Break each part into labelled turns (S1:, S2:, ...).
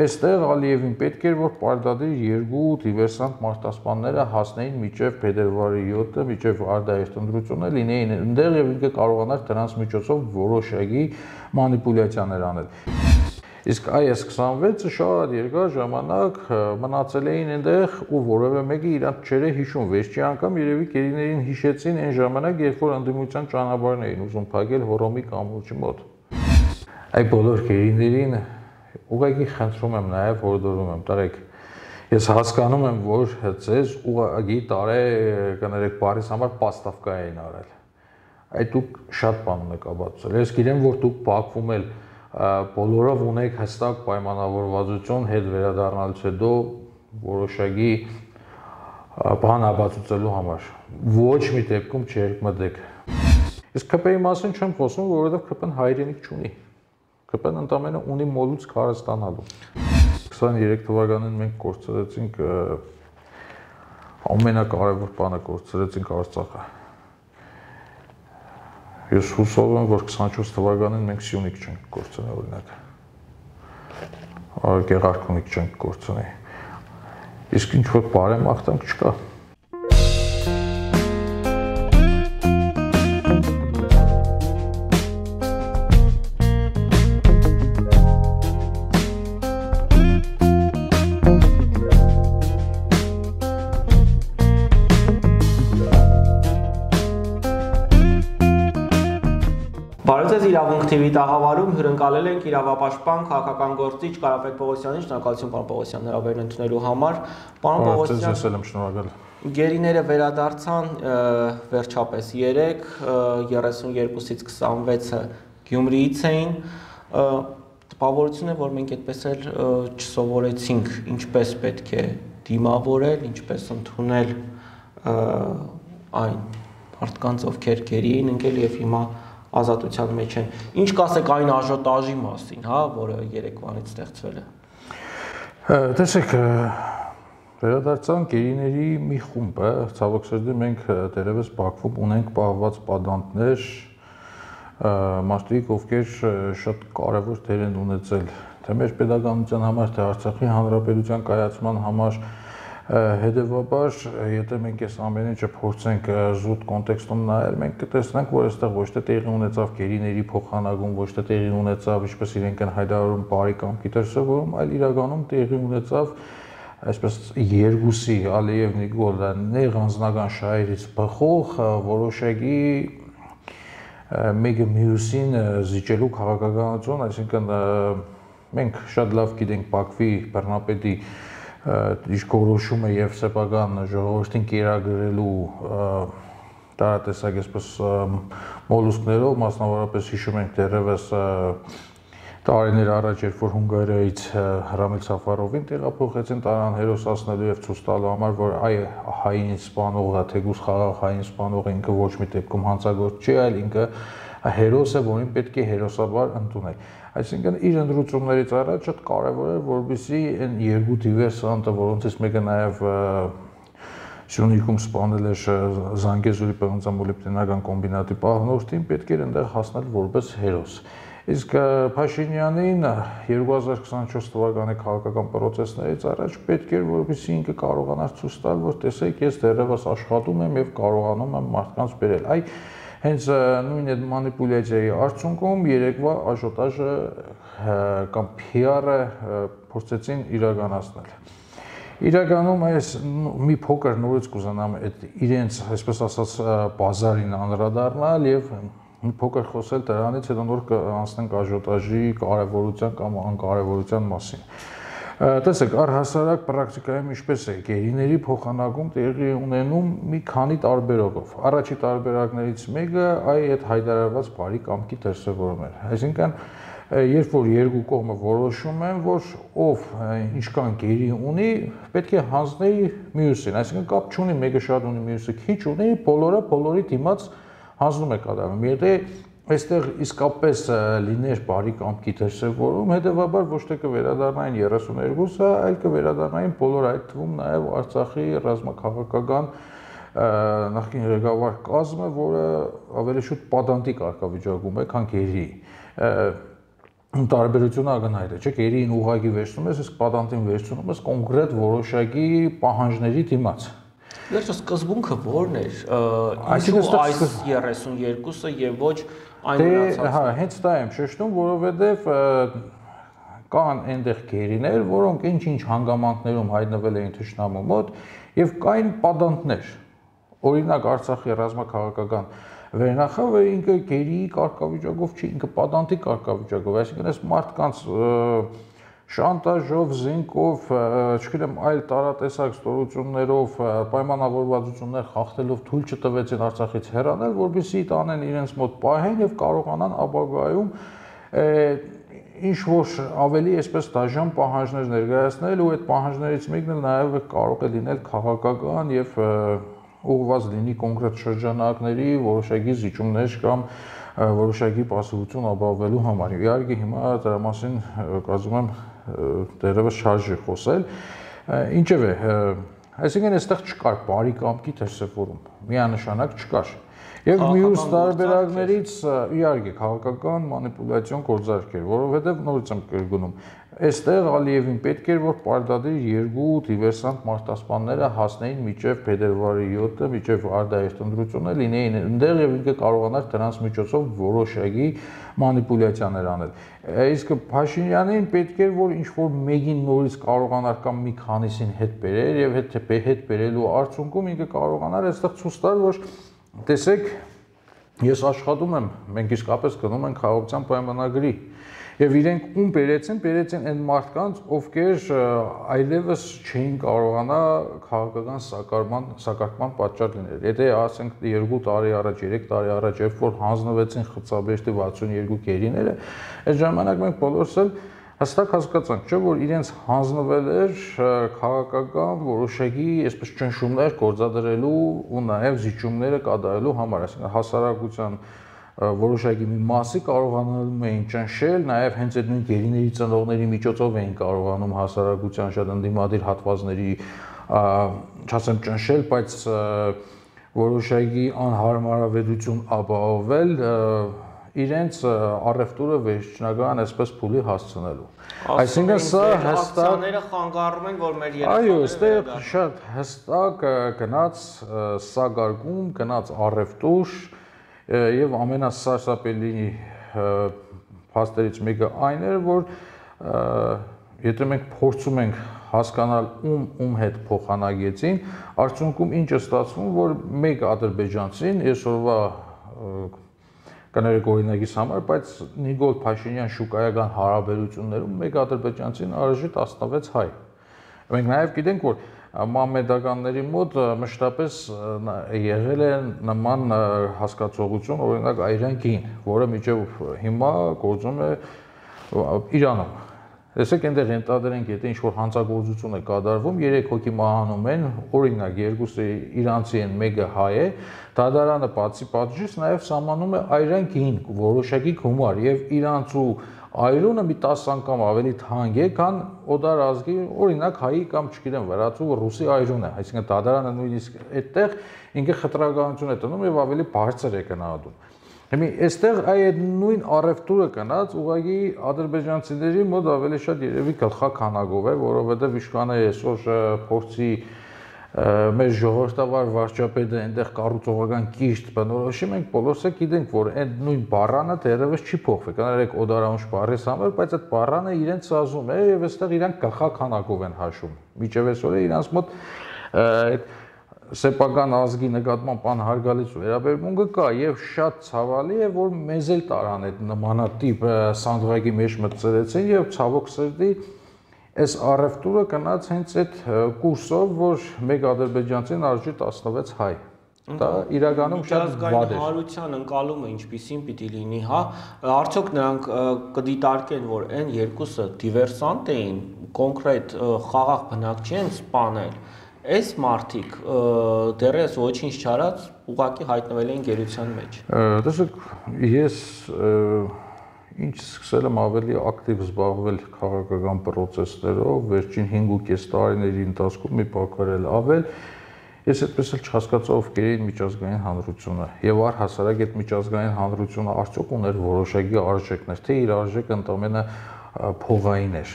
S1: Այստեղ Ալիևին պետք էր, որ պարտադիր երկու դիվերսանտ մարտահրավերները հասնեին մինչև փետրվարի 7-ը, մինչև արտահայտ ընտրությունը լինեին այնտեղ եւ ինքը կարողանար դրանց միջոցով որոշակի մանիպուլյացիաներ անել։ Իսկ այս 26-ը շատ երկար ժամանակ մնացել էին այնտեղ ու որևէ մեկը իրանք չէր հիշում։ Վերջի անգամ երևի գերիներին հիշեցին այն ժամանակ, երբ որ ընդդիմության ճանապարհն էին ուզում փակել Հոռոմի կամուրջի մոտ։ Այ բոլոր գերիներին ուղղակի խնդրում եմ նաև հորդորում եմ, տարեք, ես հասկանում եմ, որ ձեզ ուղղակի կներեք բարիս համար պաստավկա էին արել։ Այդ դուք շատ բան ունեք ապացուցել։ Ես գիտեմ, որ դուք Բաքվում էլ բոլորով ունեք հստակ պայմանավորվածություն հետ վերադառնալուց հետո որոշակի բան ապացուցելու համար։ Ոչ մի դեպքում չերկմտեք։ Իսկ ԿՊ-ի մասին չեմ խոսում, որովհետև ԿՊ-ն հայրենիք չունի։ ԿՊ-ն ընդամենը ունի մոլուց քարը ստանալու։ 23 թվականին մենք կորցրեցինք ամենակարևոր բանը կորցրեցինք Արցախը։ Ես հուսով եմ, որ 24 թվականին մենք Սյունիք չենք կորցնի օրինակ։ Գեղարքունիք չենք կորցնի։ Իսկ ինչ-որ բարեմաղթանք չկա։
S2: Իրավունք TV տաղավարում հյուրընկալել ենք իրավապաշտպան քաղաքական գործիչ Կարապետ Պողոսյանին, շնորհակալություն պարոն Պողոսյան հրավերն ընդունելու համար։ Պարոն Պողոսյան, գերիները վերադարձան վերջապես 32-ից 26-ը Գյումրիից էին։ Տպավորություն է, որ մենք այդպես էլ չսովորեցինք ինչպես պետք է դիմավորել, ինչպես ընդունել այն մարդկանց, ովքեր գերի էին ընկել եւ հիմա ազատության մեջ են։ Ինչ կասեք այն աժոտաժի մասին, հա, որը երեկվանից ստեղծվել է։
S1: Տեսեք, վերադարձան գերիների մի խումբ է, ցավոք սրտի մենք դերևս Բաքվում ունենք պահված պատանդներ, մարդիկ, ովքեր շատ կարևոր դեր են ունեցել թե մեր պետականության համար, թե Արցախի հանրապետության կայացման համար։ Հետևաբար, եթե մենք այս ամեն ինչը փորձենք զուտ կոնտեքստում նայել, մենք կտեսնենք, որ այստեղ ոչ թե տեղի ունեցավ գերիների փոխանակում, ոչ թե տեղի ունեցավ, ինչպես իրենք են հայտարարում, բարի կամքի դրսևորում, այլ իրականում տեղի ունեցավ այսպես երկուսի Ալիև Նիկոլը նեղ անձնական շահերից բխող որոշակի մեկը մյուսին զիջելու քաղաքականություն, այսինքն մենք շատ լավ գիտենք Բաքվի բռնապետի դիրքորոշումը եւ սեփական ժողովրդին կերակրելու տարատեսակ այսպես մոլուսկներով, մասնավորապես հիշում ենք դեռևս տարիներ առաջ, երբ որ Հունգարիայից Ռամիլ Սաֆարովին տեղափոխեցին տարան հերոսացնելու եւ ցույց տալու համար, որ այ հային սպանողը, թեկուզ խաղաղ հային սպանողը ինքը ոչ մի դեպքում հանցագործ չի, այլ ինքը հերոս է, որին պետք է հերոսաբար ընդունել։ Այսինքն իր ընդրություններից առաջ շատ կարևոր է, որպեսզի այն երկու դիվերսանտը, որոնցից մեկը նաև Սյունիքում սպանել է Զանգեզուրի պղնձամոլիբդենական կոմբինատի պահնորդին, պետք էր այնտեղ հասնել որպես հերոս։ Իսկ Փաշինյանին 2024 թվականի քաղաքական պրոցեսներից առաջ պետք էր, որպեսզի ինքը կարողանար ցույց տալ, որ տեսեք, ես դեռևս աշխատում եմ եւ կարողանում եմ մարդկանց բերել։ Այ հենց նույն այդ մանիպուլյացիայի արդյունքում երեկվա աժոտաժը կամ PR-ը փորձեցին իրականացնել։ Իրականում այս մի փոքր նորից կուզենամ այդ իրենց, այսպես ասած, բազարին անդրադառնալ եւ մի փոքր խոսել դրանից, հետո նոր անցնենք աժոտաժի կարևորության կամ անկարևորության մասին։ Տեսեք, առհասարակ պրակտիկայում ինչպես է, գերիների փոխանակում տեղի ունենում մի քանի տարբերակով։ Առաջի տարբերակներից մեկը այդ հայտարարված բարի կամքի դրսևորումն է։ Այսինքն, երբ որ երկու կողմը որոշում են, որ ով ինչքան գերի ունի, պետք է հանձնի մյուսին, այսինքն կապ չունի մեկը շատ ունի, մյուսը քիչ ունի, բոլորը բոլորի դիմաց հանձնում է կատարում։ Եթե այստեղ իսկապես լիներ բարի կամքի դրսևորում, հետևաբար ոչ թե կվերադառնային 32-ը, այլ կվերադառնային բոլոր, այդ թվում նաև Արցախի ռազմաքաղաքական նախկին ղեկավար կազմը, որը ավելի շուտ պատանդի կարգավիճակում է, քան գերի։ տարբերությունը ակնհայտ է, չէ՞, գերին ուղղակի վերցնում ես, իսկ պատանտին վերցնում ես կոնկրետ որոշակի պահանջների դիմաց։
S2: Վերջը սկզբունքը ո՞րն էր։ Ինչու այս 32-ը եւ ոչ այն մնացածը։
S1: Հա, հենց դա եմ շեշտում, որովհետեւ կան այնտեղ գերիներ, որոնք ինչ-ինչ հանգամանքներում հայտնվել էին թշնամու մոտ եւ կային պատանտներ։ Օրինակ Արցախի ռազմաքաղաքական վերնախավը ինքը գերի կարգավիճակով չի, ինքը պատանտի կարգավիճակով, այսինքն այս մարդկանց շանտաժով, զինկով, չգիտեմ, այլ տարատեսակ ստորություններով, պայմանավորվածություններ խախտելով թույլ չտվեցին Արցախից հեռանալ, որպեսզի տանեն իրենց մոտ պահեն եւ կարողանան ապագայում ինչ-որ ավելի այսպես դաժան պահանջներ ներկայացնել ու այդ պահանջներից մեկն էլ նաեւ կարող է լինել քաղաքական եւ ուղղված լինի կոնկրետ շրջանակների որոշակի զիջումներ կամ որոշակի պասիվություն ապահովելու համար։ Իհարկե հիմա դրա մասին կարծում եմ դեռևս շարժ է խոսել։ Ինչևէ, այսինքն այստեղ չկար բարի կամքի դրսևորում, միանշանակ չկար։ Եվ մյուս տարբերակներից իհարկե քաղաքական մանիպուլյացիոն գործարք էր, որովհետև նորից եմ կրկնում, այստեղ Ալիևին պետք էր, որ պարտադիր երկու դիվերսանտ մարտահրավերները հասնեին մինչև փետրվարի 7-ը, մինչև Արդահերթ ընտրությունը լինեին այնտեղ եւ ինքը կարողանար դրանց միջոցով որոշակի մանիպուլյացիաներ անել։ Իսկ Փաշինյանին պետք էր, որ ինչ-որ մեկին նորից կարողանար կամ մի քանիսին հետ բերեր եւ հետ բերելու արդյունքում ինքը կարողանար այստեղ ցույց տալ, որ տեսեք, ես աշխատում եմ, մենք իսկապես գնում ենք խաղաղության պայմանագրի եւ իրենք ում բերեցին այն մարդկանց, ովքեր այլևս չէին կարողանա քաղաքական սակարկման պատճառ լինել։ Եթե ասենք 2 տարի առաջ, 3 տարի առաջ, երբ որ հանձնվեցին Խծաբեշտի 62 գերիները, այդ ժամանակ մենք բոլորս էլ հստակ հասկացանք, չէ՞ որ իրենց հանձնվել էր քաղաքական որոշակի այսպես ճնշումներ գործադրելու ու նաև զիջումները կատարելու համար, այսինքն հասարակության որոշակի մի մասի կարողանում էին ճնշել, նաև հենց այդ նույն գերիների ծնողների միջոցով էին կարողանում հասարակության շատ ընդդիմադիր հատվածների չասեմ ճնշել, բայց որոշակի անհարմարավետություն ապահովել իրենց առևտուրը վերջնական այսպես փուլի հասցնելու։ Այսինքն սա հստակ
S2: խանգարում են, որ մեր
S1: այո, այստեղ շատ հստակ գնաց սակարկում, գնաց առևտուր եւ ամենասարսափելի փաստերից մեկը այն էր, որ եթե մենք փորձում ենք հասկանալ ում հետ փոխանակեցին, արդյունքում ինչ է ստացվում, որ մեկ ադրբեջանցին այսօրվա կներեք օրինակից համար, բայց Նիկոլ Փաշինյան շուկայական հարաբերություններում մեկ ադրբեջանցին արժի 16 հայ։ Մենք նաև գիտենք, որ մամեդականների մոտ մշտապես եղել է նման հասկացողություն, օրինակ Այրան կին, որը մինչև հիմա գործում է Իրանում։ Տեսեք, այնտեղ ենթադրենք, եթե ինչ-որ հանցագործություն է կատարվում, 3 հոգի մահանում են, օրինակ 2-ը իրանցի են, 1-ը հայ է, դատարանը բացի պատժից նաև սահմանում է Այրան կին որոշակի գումար եւ իրանցու այրունը մի 10 անգամ ավելի թանկ է, քան օտար ազգի, օրինակ հայի կամ չգիտեմ վրացու ռուսի այրուն է, այսինքն դատարանը նույնիսկ այդտեղ ինքը խտրականություն է տնում եւ ավելի բարձր է գնահատում։ Հիմա այստեղ այդ նույն առևտուրը կնած ուղղակի ադրբեջանցիների մոտ ավելի շատ երևի գլխաքանակով է, որովհետեւ իշխանը այսօր փորձի մեր ժողովրդավար վարչապետը այնտեղ կառուցողական կիրթ բնորոշի, մենք բոլորս էլ գիտենք, որ այդ նույն բառանը դեռևս չի փոխվել։ Կներեք օդարանուշ բառի համար, բայց այդ բառանը իրենց սազում է եւ այստեղ իրանք գլխաքանակով են հաշվում։ Միջև այսօր իրանց մոտ այդ սեփական ազգի նկատմամբ անհարգալից վերաբերմունքը կա եւ շատ ցավալի է, որ մեզ էլ տարան այդ նմանատիպ սանդղակի մեջ մտցրեցին եւ ցավոք սրտի այս առևտուրը կնաց հենց այդ կուրսով, որ մեկ ադրբեջանցին արժի 16 հայ։ Դա իրականում շատ վատ է։
S2: Հարության ընկալումը ինչպիսին պիտի լինի, հա, արդյոք նրանք կդիտարկեն, որ այն երկուսը դիվերսանտ էին, կոնկրետ խաղաղ բնակ չեն սպանել։ Այս մարդիկ դեռևս ոչինչ չարած ուղղակի հայտնվել են գերության մեջ։
S1: Տեսեք, ես ինչ սկսել եմ ավելի ակտիվ զբաղվել քաղաքական process-ներով, վերջին 5.5 տարիների ընթացքում մի փոքր էլ ավել, Ես այդպես էլ չհասկացա ովքեր էին միջազգային հանրությունը եւ առհասարակ այդ միջազգային հանրությունը արդյոք ուներ որոշակի արժեքներ, թե իր արժեքը ընդամենը փողային էր։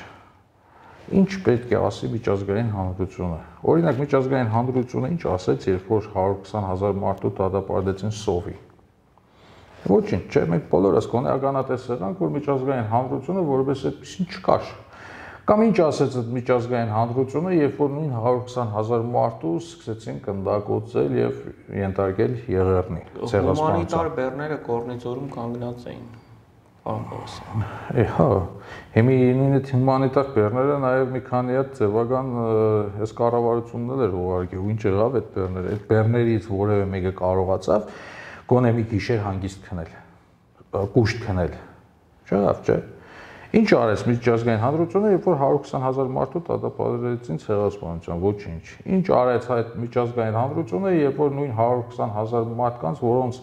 S1: Ինչ պետք է ասի միջազգային հանրությունը։ Օրինակ միջազգային հանրությունը ինչ ասեց, երբ որ 120,000 մարդու դատապարտեցին սովի։ Ոչինչ, չէ, մենք բոլորս գոնե ականատես եղանք, որ միջազգային հանրությունը որպես այդպեսին չկար։ Կամ ինչ ասեց այդ միջազգային հանրությունը, երբ որ նույն 120,000 մարդու սկսեցին կնդակոծել եւ ենթարկել եղեռնի, ցեղասպանության։
S2: Հումանիտար բեռները կորնիձորում կանգնած էին։ Պարոն Պողոսյան։
S1: Հա, հիմի նույն այդ հումանիտար բեռները նաեւ մի քանի հատ ձևական այս կառավարությունն էր ուղարկել, ու ինչ եղավ այդ բեռները։ Այդ բեռներից որևէ մեկը կարողացավ գոնե մի գիշեր հանգիստ քնել, կուշտ քնել։ Չեղավ, չէ։ Ինչ արեց միջազգային հանրությունը, երբ որ 120,000 մարդու դատապարտեցին ցեղասպանության, ոչինչ։ Ինչ արեց այդ միջազգային հանրությունը, երբ որ նույն 120,000 մարդկանց, որոնց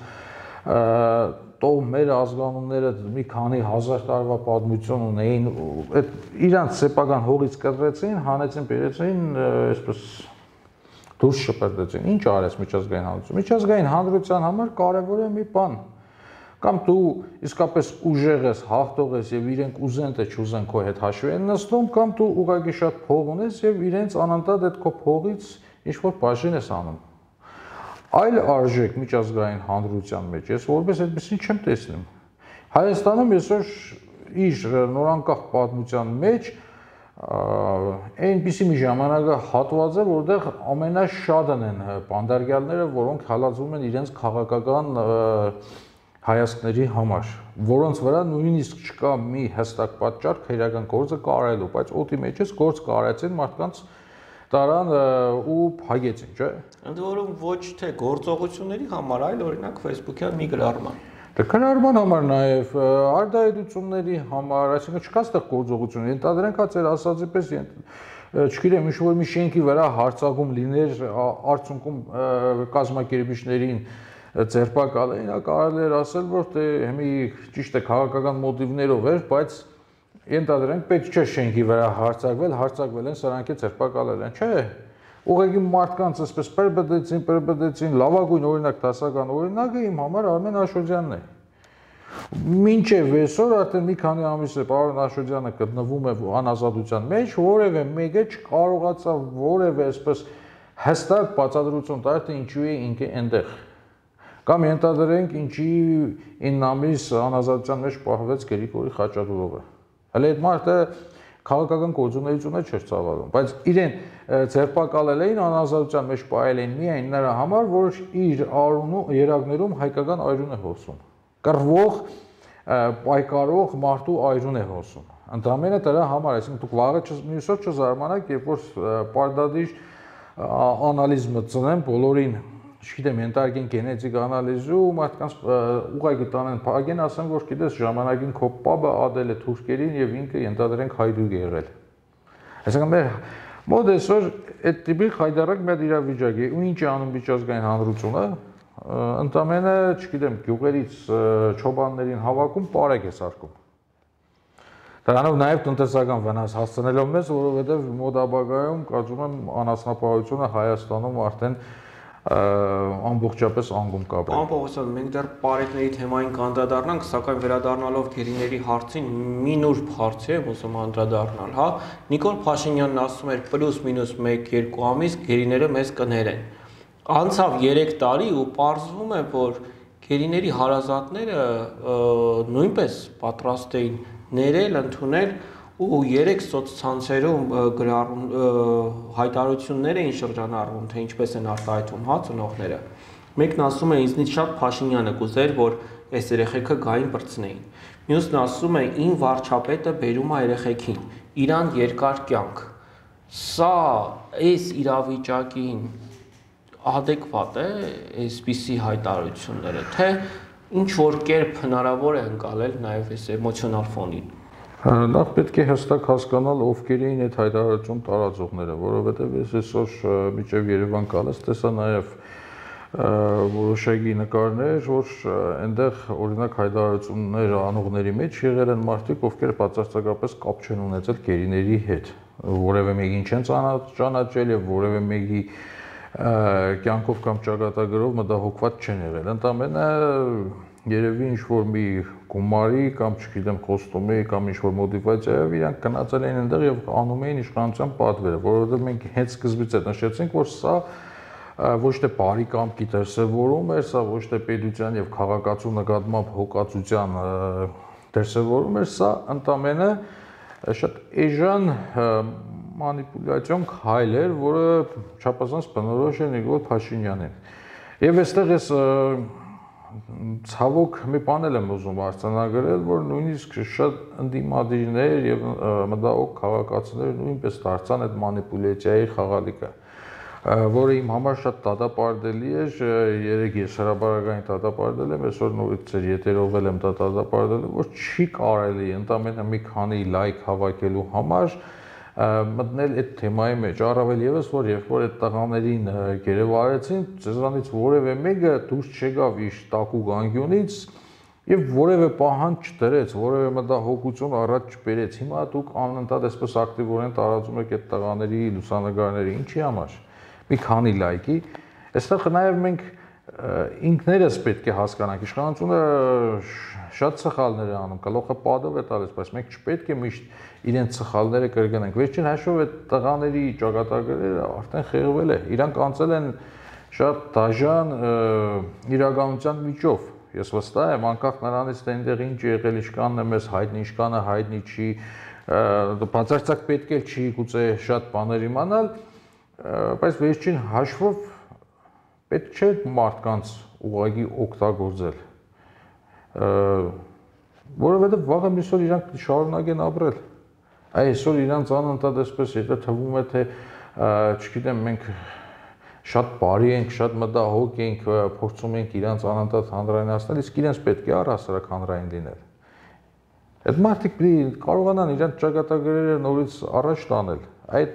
S1: մեր ազգանունները մի քանի հազար տարվա պատմություն ունեին, այդ իրանց սեփական հողից կտրեցին, հանեցին, բերեցին, այսպես դուրս շպրտեցին։ Ինչ արեց միջազգային հանրությունը։ Միջազգային հանրության համար կարևոր է մի բան։ Կամ դու իսկապես ուժեղ ես, հաղթող ես եւ իրենք ուզեն թե չուզեն քո հետ հաշվի են նստում, կամ դու ուղղակի շատ փող ունես եւ իրենց անընդհատ այդ քո փողից ինչ-որ բաժին ես անում։ Այլ արժեք միջազգային հանրության մեջ ես որպես այդպեսին չեմ տեսնում։ Հայաստանում այսօր իր նորանկախ պատմության մեջ այնպիսի մի ժամանակահատված է, որտեղ ամենաշատն են բանդարգյալները, որոնք հալածվում են իրենց քաղաքական հայացքների համար, որոնց վրա նույնիսկ չկա մի հստակ պատճառ քրեական գործը կարելու, բայց օդի մեջ էս գործ կարեցին մարդկանց տարան ու փագեցին, չէ՞։
S2: Ընդ որում ոչ թե գործողությունների համար, այլ օրինակ Facebook-յան մի գրառման։
S1: Դե գրառման համար նաև արտահայտությունների համար, այսինքն չկա ստեղ գործողություն, ենթադրենք հա ձեր ասածի պես չգիտեմ, ինչ-որ մի շենքի վրա հարձակում լիներ, արդյունքում կազմակերպիչներին ձերբակալեին, կարելի էր ասել, որ դե հիմի ճիշտ է քաղաքական մոտիվներով էր, բայց ենթադրենք պետք չէ շենքի վրա հարձակվել են, սրանք է ձերբակալել են, չէ։ Ուղղակի մարդկանց այսպես պրբդեցին, լավագույն օրինակ դասական օրինակը իմ համար Արմեն Աշոտյանն է։ Մինչև այսօր արդեն մի քանի ամիս է պարոն Աշոտյանը գտնվում է անազատության մեջ, որևէ մեկը չկարողացավ որևէ այսպես հստակ բացատրություն տալ, թե ինչու է ինքը այնտեղ։ Կամ ենթադրենք ինչի 9 ամիս անազատության մեջ պահվեց Գրիգորի Խաչատուրովը։ Հələ այդ մարդը քաղաքական գործունեությունը չէր ծավալում, բայց իրեն ձերբակալել էին անազատության մեջ պահել էին միայն նրա համար, որ իր երակներում հայկական այրուն է հոսում։ Կռվող, պայքարող մարդու այրուն է հոսում։ Ընդամենը դրա համար, այսինքն դուք վաղը մյուս օր չզարմանաք, երբ որ պարտադիր անալիզ մտցնեն բոլորին, չգիտեմ, ենթարկեն գենետիկ անալիզի ու մարդկանց ուղղակի տանեն փագեն, ասեն, որ գիտես ժամանակին քո պապը ադել է թուրքերին եւ ինքը ենթադրենք հայդուկ է եղել։ Այսինքն մեր մոտ այսօր այդ տիպի խայդարակ մի իրավիճակ է, ու ինչ է անում միջազգային հանրությունը, ընդամենը, չգիտեմ, գյուղերից չոբաններին հավաքում պարեկ է սարքում։ Դրանով նաև տնտեսական վնաս հասցնելով մեզ, որովհետև մոտ ապագայում կարծում եմ անասնապահությունը Հայաստանում արդեն ամբողջապես անգում կապ է։
S2: Պարոն Պողոսյան, մենք դեռ պարեկների թեմային կանդրադառնանք, սակայն վերադառնալով գերիների հարցին, մի նուրբ հարց է, ոսում անդրադառնալ, հա։ Նիկոլ Փաշինյանն ասում էր պլյուս-մինուս 1-2 ամիս գերիները մեզ կներեն։ Անցավ 3 տարի ու պարզվում է, որ գերիների հարազատները նույնպես պատրաստ էին ներել, ընդունել ու 3 սոցցանցերում հայտարարություններ էին շրջանառվում, թե ինչպես են արտահայտվում հա ծնողները։ Մեկն ասում է ինձնից շատ Փաշինյանը կուզեր, որ այս երեխեքը գային բրցնեին։ Մյուսն ասում է ին վարչապետը բերում է երեխեքին, իրան երկար կյանք։ Սա այս իրավիճակին adekvat է այսպիսի հայտարարությունները, թե ինչ որ կերպ հնարավոր է ընկալել նաև այս էմոցիոնալ ֆոնին։
S1: Նախ պետք է հստակ հասկանալ ովքեր էին այդ հայտարարություն տարածողները, որովհետև ես այսօր միջև Երևան գալիս տեսա նաև որոշակի նկարներ, որ այնտեղ օրինակ հայտարարություններ անողների մեջ եղել են մարդիկ, ովքեր բացարձակապես կապ չեն ունեցել գերիների հետ, որևէ մեկին չեն ճանաչել եւ որևէ մեկի կյանքով կամ ճակատագրով մտահոգված չեն եղել։ Ընդամենը երևի ինչ-որ մի գումարի կամ չգիտեմ խոստումի կամ ինչ-որ մոտիվացիայով իրանք գնացել էին այնտեղ եւ անում էին իշխանության պատվերը, որովհետեւ մենք հենց սկզբից էլ նշեցինք, որ սա ոչ թե բարի կամքի դրսևորում էր, սա ոչ թե պետության եւ քաղաքացու նկատմամբ հոգացության դրսևորում էր, սա ընդամենը շատ էժան մանիպուլյացիոն քայլ էր, որը չափազանց բնորոշ է Նիկոլ Փաշինյանին։ Եվ այստեղ ես ցավոք մի բան եմ ուզում արձանագրել, որ նույնիսկ շատ ընդդիմադիրներ եւ մտահոգ քաղաքացիներ նույնպես դարձան այդ մանիպուլյացիայի խաղալիքը, որը իմ համար շատ դատապարտելի է, երեք ես հրապարակային դատապարտել եմ, այսօր նորից եթերով եմ դա դատապարտել, որ չի կարելի ընդամենը մի քանի լայք հավաքելու համար մտնել այդ թեմայի մեջ, առավել եւս որ երբ որ այդ տղաներին գերեվարեցին, ցեզանից որևէ մեկը դուրս չեկավ իր տակու գանգյունից եւ որևէ պահանջ չդրեց, որևէ մտահոգություն առաջ չբերեց։ Հիմա դուք անընդհատ այսպես ակտիվորեն տարածում եք այդ տղաների լուսանկարները, ինչի համար։ Մի քանի լայքի, այստեղ նաեւ մենք ինքներս պետք է հասկանանք, իշխանությունը շատ սխալներ է անում, գլուխը պատով է տալիս, բայց մենք չպետք է միշտ իրենց սխալները կրկնենք։ Վերջին հաշվով այդ տղաների ճակատագրերը արդեն խեղվել է, իրանք անցել են շատ դաժան իրականության միջով։ Ես վստահ եմ, անկախ նրանից թե այնտեղ ինչ եղել, ինչքանն է մեզ հայտնի, ինչքանը հայտնի չի, բացարձակ պետք է չի գուցե շատ բաներ իմանալ, բայց վերջին հաշվով պետք չէ մարդկանց ուղղակի օգտագործել, որովհետև վաղը մյուսօր իրանք շարունակեն ապրել։ Այսօր իրանց անընդհատ այսպես եթե թվում է թե չգիտեմ մենք շատ բարի ենք, շատ մտահոգ ենք, փորձում ենք իրանց անընդհատ հանրայնացնել, իսկ իրենց պետք է առհասարակ հանրային լինել։ Այդ մարդիկ կարողանան իրանց ճակատագրերը նորից առաջ տանել։ Այդ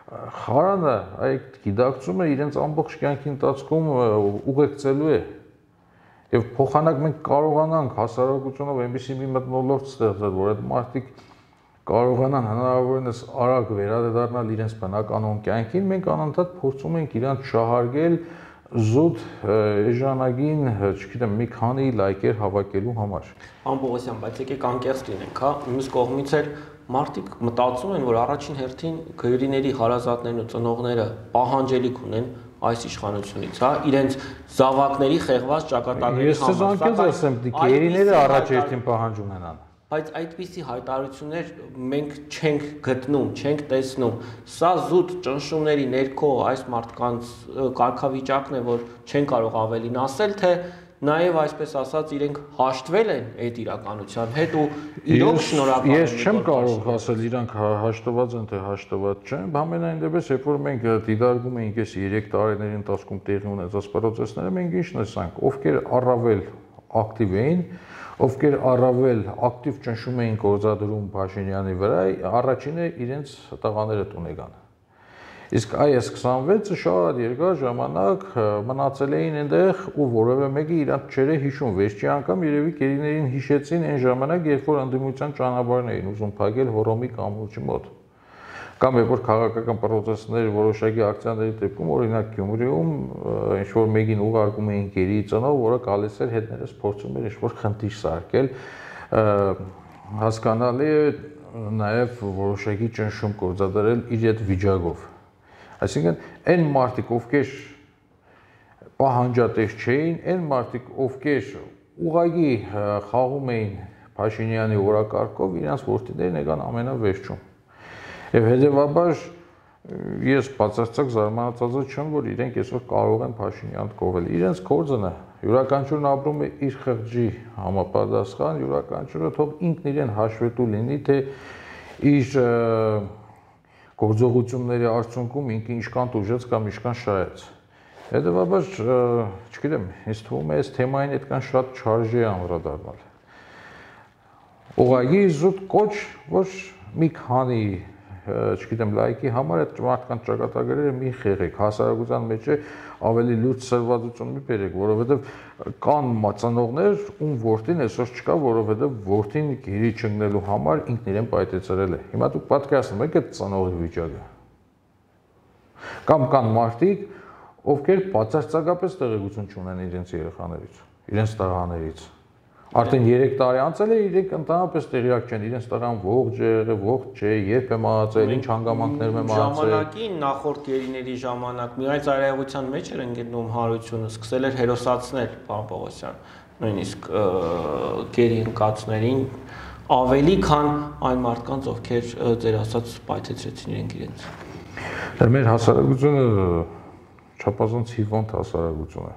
S1: խարանը, այդ գիտակցումը իրենց ամբողջ կյանքի ընթացքում ուղեկցելու է։ Եվ փոխանակ մենք կարողանանք հասարակությունով այնպիսի մի մթնոլորտ ստեղծել, որ այդ մարդիկ կարողանան հնարավորինս արագ վերադառնալ իրենց բնականոն կյանքին, մենք անընդհատ փորձում ենք իրանց շահարկել զուտ էժանագին, չգիտեմ, մի քանի լայքեր հավաքելու համար։
S2: Պարոն Պողոսյան, բայց եկեք անկեղծ լինենք, հա, մյուս կողմից էլ մարդիկ մտածում են, որ առաջին հերթին գերիների հարազատներն ու ծնողները պահանջելիք ունեն այս իշխանությունից, հա, իրենց զավակների խեղված ճակատագրերի
S1: համար։ Ես ձեզ անկեղծ ասեմ, գերիները առաջ հերթին պահանջ ունենան։
S2: Բայց այդպիսի հայտարարություններ մենք չենք գտնում, չենք տեսնում։ Սա զուտ ճնշումների ներքո այս մարդկանց կարգավիճակն է, որ չեն կարող ավելին ասել, թե նաև այսպես ասած իրենք հաշտվել են այդ իրականության հետ ու իրոք շնորհակալ են։
S1: Ես չեմ կարող ասել իրանք հաշտված են թե հաշտված չեն, ամենայն դեպս երբ որ մենք դիտարկում էինք այս 3 տարիների ընթացքում տեղի ունեցած process-ները, մենք ինչ տեսանք, ովքեր առավել ակտիվ էին, ովքեր առավել ակտիվ ճնշում էին գործադրում Փաշինյանի վրա, առաջինը իրենց տղաները տուն եկան։ Իսկ այս 26-ը շատ երկար ժամանակ մնացել էին այնտեղ ու որևէ մեկը իրանք չեր հիշում։ Վերջի անգամ երևի գերիներին հիշեցին այն ժամանակ, երբ որ ընդդիմության ճանապարհն էին ուզում փակել Հոռոմի կամուրջի մոտ։ Կամ երբ որ քաղաքական process-ներ որոշակի ակցիաների դեպքում, օրինակ Գյումրիում ինչ-որ մեկին ուղարկում էին գերի ծնող, որը գալիս էր հետներս փորձում էր ինչ-որ խնդիր սարքել, հասկանալի է նաև որոշակի ճնշում գործադրել իր այդ վիճակով։ Այսինքն այն մարդիկ, ովքեր պահանջատես չէին, այն մարդիկ, ովքեր ուղղակի խաղում էին Փաշինյանի օրակարգով, իրանց որդիներն եկան ամենավերջում։ Եվ հետևաբար ես բացարձակ զարմանացած չեմ, որ իրենք այսօր կարող են Փաշինյան կովել։ Իրենց գործն է, յուրաքանչյուրն ապրում է իր խղճի համապատասխան, յուրաքանչյուրը թող ինքն իրեն հաշվետու լինի, թե իր գործողությունների արդյունքում ինքը ինչքան տուժեց կամ ինչքան շահեց։ Հետևաբար, չգիտեմ, ինձ թվում է այս թեմային այդքան շատ չարժե է անդրադառնալ։ Ուղղակի զուտ կոչ, որ մի քանի չգիտեմ, լայքի համար այդ մարդկանց ճակատագրերը մի խեղեք, հասարակության մեջ է ավելի լուրջ սրվածություն մի բերեք, որովհետև կան ծնողներ, ում որդին այսօր չկա, որովհետև որդին գերի չընկնելու համար ինքն իրեն պայթեցրել է։ Հիմա դուք պատկերացնում եք այդ ծնողի վիճակը։ Կամ կան մարդիկ, ովքեր բացարձակապես տեղեկություն չունեն իրենց երեխաներից, իրենց տղաներից։ Արդեն 3 տարի անցել է, իրենք ընդհանրապես տեղյակ չեն, իրենց տղան ողջ է եղել, ողջ չէ, երբ է մահացել, ինչ հանգամանքներում է մահացել։
S2: Ժամանակի նախորդ գերիների ժամանակ մի այլ ծայրահեղության մեջ էր ընկնում հարությունը, սկսել էր հերոսացնել պարոն Պողոսյան, նույնիսկ գերի ընկածներին ավելի քան այն մարդկանց, ովքեր ձեր ասած պայթեցրեցին իրենց։
S1: Մեր հասարակությունը չափազանց հիվանդ հասարակություն է։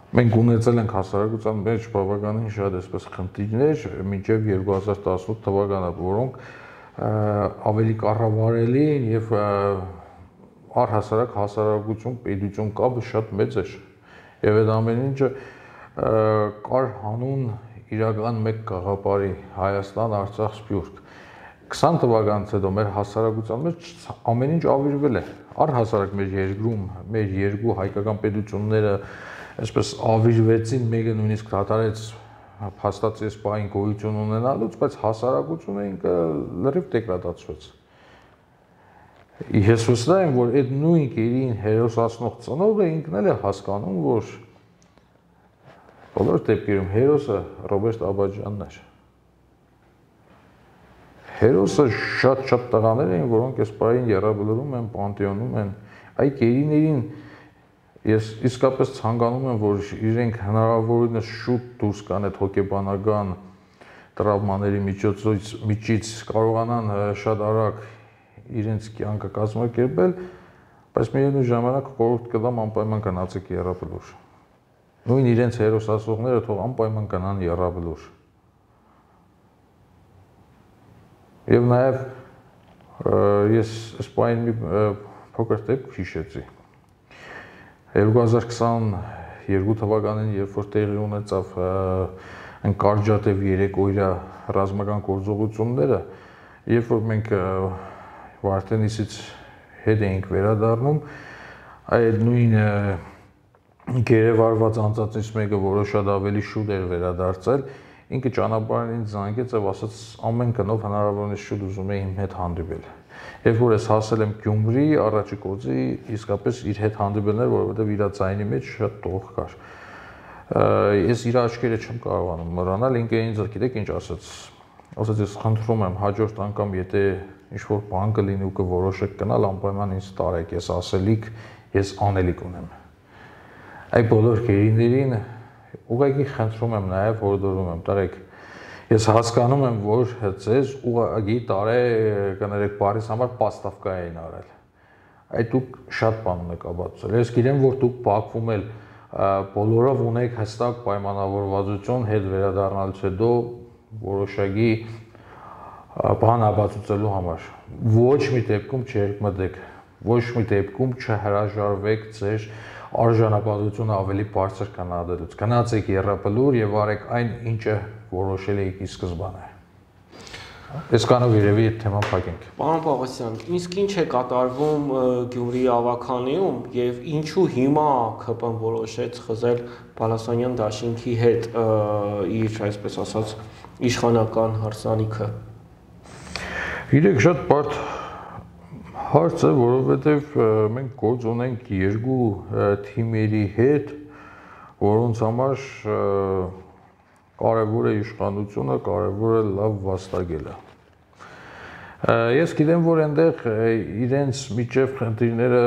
S1: Մենք ունեցել ենք հասարակության մեջ բավականին շատ այսպես խնդիրներ մինչև 2018 թվականը, որոնք ավելի կառավարելի են եւ առհասարակ հասարակություն պետություն կապը շատ մեծ էր։ Եվ այդ ամեն ինչը կար հանուն իրական մեկ գաղափարի Հայաստան, Արցախ, Սփյուռք։ 20 թվականից հետո մեր հասարակության մեջ ամեն ինչ ավիրվել է։ Առհասարակ մեր երկրում մեր երկու հայկական պետությունները այսպես ավիրվեցին, մեկը նույնիսկ դադարեց փաստացի այս պահին գոյություն ունենալուց, բայց հասարակությունը ինքը լրիվ դեգրադացվեց։ Ես վստահ եմ, որ այդ նույն գերին հերոսացնող ծնողը ինքն էլ է հասկանում, որ բոլոր դեպքերում հերոսը Ռոբերտ Աբաջյանն էր։ Հերոսը շատ տղաներ էին, որոնք այս պահին եռաբլուրում են, պանթեոնում են, այ գերիներին ես իսկապես ցանկանում եմ, որ իրենք հնարավորինս շուտ դուրս գան այդ հոգեբանական տրավմաների միջից կարողանան շատ արագ իրենց կյանքը կազմակերպել, բայց միևնույն ժամանակ խորհուրդ կտամ անպայման գնացեք եռաբլուր։ Նույն իրենց հերոսացողները թող անպայման գնան եռաբլուր։ Եվ նաև ես սպայն մի փոքր դեպք հիշեցի։ 2022 թվականին, երբ որ տեղի ունեցավ Կարճատև 3 օրյա ռազմական գործողությունները, երբ որ մենք Վարդենիսից հետ էինք վերադառնում, այդ նույն գերեվարված անձածից մեկը, որը շատ ավելի շուտ էր վերադարձել, ինքը ճանապարհին ինձ զանգեց եւ ասաց ամեն կնով հնարավորինս շուտ ուզում է իմ հետ հանդիպել։ Երբ որ ես հասել եմ Գյումրի, առաջի գործի իսկապես իր հետ հանդիպելներ, որովհետև իր ձայնի մեջ շատ տող կար։ Ես իր աչքերը չեմ կարողանում մոռանալ, ինքը ինձ գիտեք ինչ ասաց։ Ասաց ես խնդրում եմ հաջորդ անգամ եթե ինչ-որ բան կլինի ու կորոշեք գնալ, անպայման ինձ տարեք, ես ասելիք, ես անելիք ունեմ։ Այդ բոլոր գերիներին ուղղակի խնդրում եմ նաև հորդորում եմ, տարեք ես հասկանում եմ, որ ձեզ ուղղակի կներեք բարիս համար պաստավկա էին արել։ Այդ դուք շատ բան ունեք ապացուցել։ Ես գիտեմ, որ դուք Բաքվում էլ բոլորով ունեք հստակ պայմանավորվածություն հետ վերադառնալուց հետո որոշակի բան ապացուցելու համար։ Ոչ մի դեպքում չերկմտեք, ոչ մի դեպքում չհրաժարվեք ձեր արժանապատվությունը ավելի բարձր կանադելուց։ Գնացեք եռաբլուր եւ արեք այն, ինչը որոշել եք ի սկզբանե։ Այսքանով երևի այդ թեման փակենք։
S2: Պարոն Պողոսյան, իսկ ինչ է կատարվում Գյումրի ավականիում եւ ինչու հիմա ՔՊ-ն որոշեց խզել Բալասանյան դաշինքի հետ իր, այսպես ասած, իշխանական հարսանիքը։
S1: Գիտեք, շատ բարդ հարց է, որովհետև մենք գործ ունենք երկու թիմերի հետ, որոնց համար կարևոր է իշխանությունը, կարևոր է լավ վաստակելը։ Ես գիտեմ, որ այնտեղ իրենց միջև խնդիրները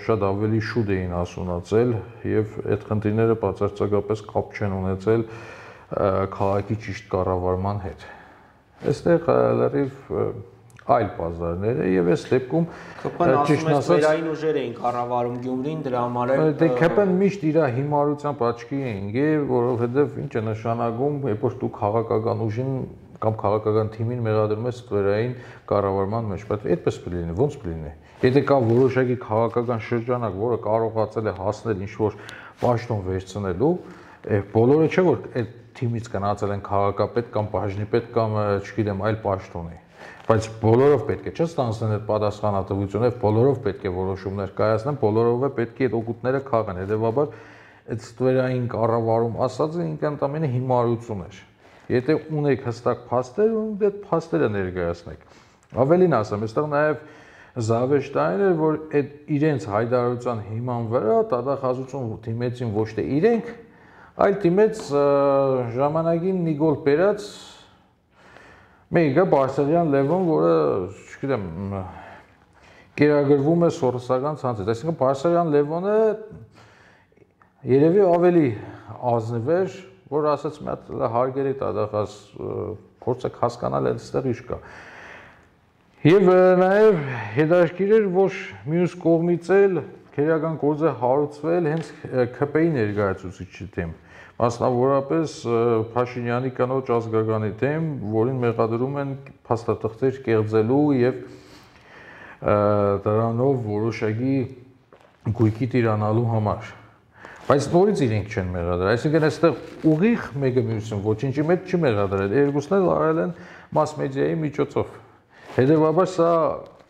S1: շատ ավելի շուտ էին հասունացել եւ այդ խնդիրները բացարձակապես կապ չեն ունեցել քաղաքի ճիշտ կառավարման հետ։ Այստեղ լրիվ այլ բազարներ է եւ այս դեպքում
S2: ճիշտ ասած վերային ուժեր էին կառավարում Գյումրին, դրա համար էլ
S1: դե ԿՊ-ն միշտ իր հիմարությամբ աչքի է ընկել, որովհետեւ ինչ է նշանակում, երբ որ դու քաղաքական ուժին կամ քաղաքական թիմին մեղադրում ես վերային կառավարման մեջ, բայց այդպես կլինի, ո՞նց կլինի։ Եթե կա որոշակի քաղաքական շրջանակ, որը կարողացել է հասնել ինչ-որ պաշտոն վերցնելու, բոլորը չէ որ այդ թիմից գնացել են քաղաքապետ կամ բաժնիպետ կամ չգիտեմ այլ պաշտոնի, բայց բոլորով պետք է չստանձնեն այդ պատասխանատվությունը, բոլորով պետք է որոշումներ կայացնեն, բոլորով է պետք է այդ օգուտները քաղեն, հետեւաբար այդ ստվերային կառավարում ասածը ինքը ընդամենը հիմարություն էր։ Եթե ունեք հստակ փաստեր, այդ փաստերը ներկայացնեք։ Ավելին ասեմ, այստեղ նաև զավեշտային էր, որ այդ իրենց հայտարարության հիման վրա դատախազություն դիմեցին ոչ թե իրենք, այլ դիմեց ժամանակին Նիկոլ Պերած մեկը Բարսեղյան Լևոն, որը, չգիտեմ, կերակրվում է սորոսական ցանցից։ Այսինքն Բարսեղյան Լևոնը երևի ավելի ազնիվ էր, որ ասաց մի հատ հարգելի դատախազ փորձեք հասկանալ այստեղ ինչ կա։ Եվ նաև հետաքրքիր էր, որ մյուս կողմից էլ քերական գործ է հարուցվել հենց ՔՊ-ի ներկայացուցիչի դեմ, մասնավորապես Փաշինյանի կնոջ ազգականի դեմ, որին մեղադրում են փաստաթղթեր կեղծելու եւ դրանով որոշակի գույքի տիրանալու համար։ Բայց նորից իրենք չեն մեղադրել, այսինքն այստեղ ուղիղ մեկը մյուսին ոչինչի մեջ չի մեղադրել, երկուսն էլ արել են մաս մեդիայի միջոցով։ Հետևաբար սա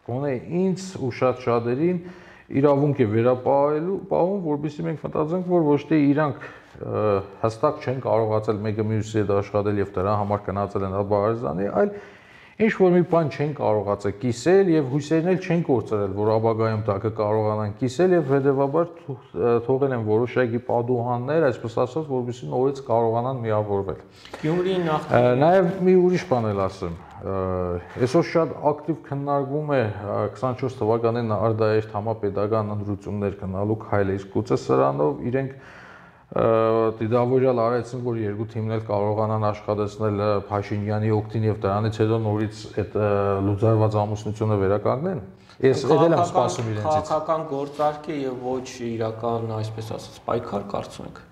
S1: գոնե ինձ ու շատ-շատերին իրավունք է վերապահում, որովհետեւ մենք մտածենք, որ ոչ թե իրանք հստակ չեն կարողացել մեկը մյուսի հետ աշխատել եւ դրա համար գնացել են Աբարազանի, այլ ինչ որ մի բան չեն կարողացել կիսել եւ հույսերն էլ չեն կորցրել, որ ապագայում դա կկարողանան կիսել եւ հետեւաբար թողել են որոշակի պատուհաններ, այսպես ասած, որովհետեւ նորից կարողանան միավորվել։
S2: Գյումրիի նախ
S1: նաեւ մի ուրիշ բան էլ ասեմ։ Այսօր շատ ակտիվ քննարկվում է 24 թվականին արդարեշտ համապետական ընտրություններ գնալու քայլը, իսկ գուցե սրանով իրենք դիտավորյալ արեցին, որ երկու թիմն էլ կարողանան աշխատեցնել Փաշինյանի օգտին եւ դրանից հետո նորից այդ լուծարված ամուսնությունը վերականգնեն։ Ես եկել եմ սպասում իրենցից։
S2: Քաղաքական գործարք է եւ ոչ իրական, այսպես ասած, պայքար կարծում եք։